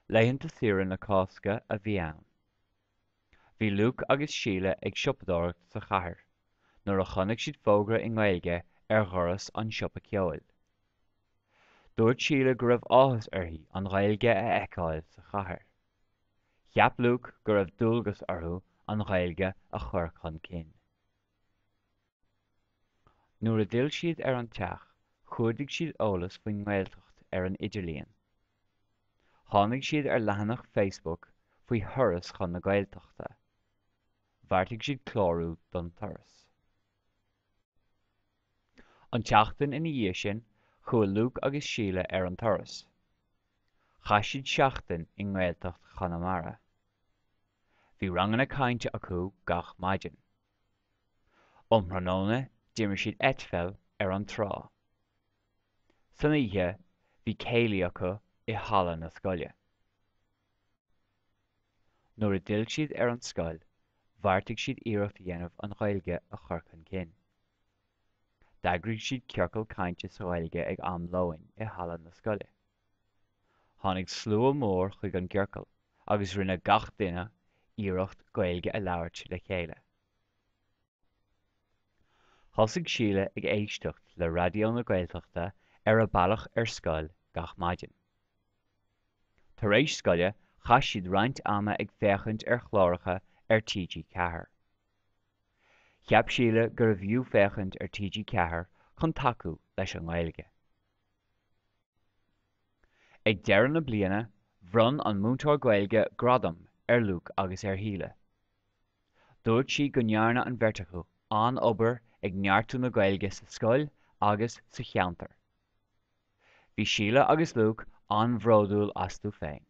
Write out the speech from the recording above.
Laethanta saoire na Cásca a bhí ann. Bhí Luke agus Síle ag siopadóireacht sa chathair nuair a chonaic siad fógra i nGaeilge ar dhoras an siopa ceoil. Dúirt Síle go raibh áthas uirthi an Ghaeilge a fheiceáil sa chathair. Cheap Luke go raibh dualgas orthu an Ghaeilge a chur chun cinn. Nuair a d'fhill siad ar an teach, chuardaigh siad eolas faoin nGaeltacht ar an idirlíon. Tháinig siad ar leathanach Facebook faoi thuras chun na Gaeltachta. Bheartaigh siad clárú don turas. An tseachtain ina dhiaidh sin, chuaigh Luke agus Síle ar an turas. Chaith siad seachtain i nGaeltacht Chonamara. Bhí ranganna cainte acu gach maidin. Um thráthnóna d'imir siad eitpheil ar an trá. San oíche bhí céilí acu i halla na scoile. Nuair a d'fhill siad ar an scoil, bheartaigh siad iarracht a dhéanamh an Ghaeilge a chur chun cinn. D'eagraigh siad ciorcal cainte sa Ghaeilge ag am lóin i halla na scoile. Tháinig slua mór chuig an gciorcal agus rinne gach duine iarracht Gaeilge a labhairt le chéile. Thosaigh Síle ag éisteacht le Raidió na Gaeltachta ar a bealach ar scoil gach maidin. Tar éis scoile, chaith siad roinnt ama ag féachaint ar chláracha ar TG4. Cheap Síle gurbh fhiú féachaint ar TG4 chun tacú leis an nGaeilge. Ag deireadh na bliana, bhronn an múinteoir Gaeilge gradam ar Luke agus ar Shíle. Dúirt sí go ndearna an bheirt acu an-obair ag neartú na Gaeilge sa scoil agus sa cheantar. Bhí Síle agus Luke an-bhródúil astu féin.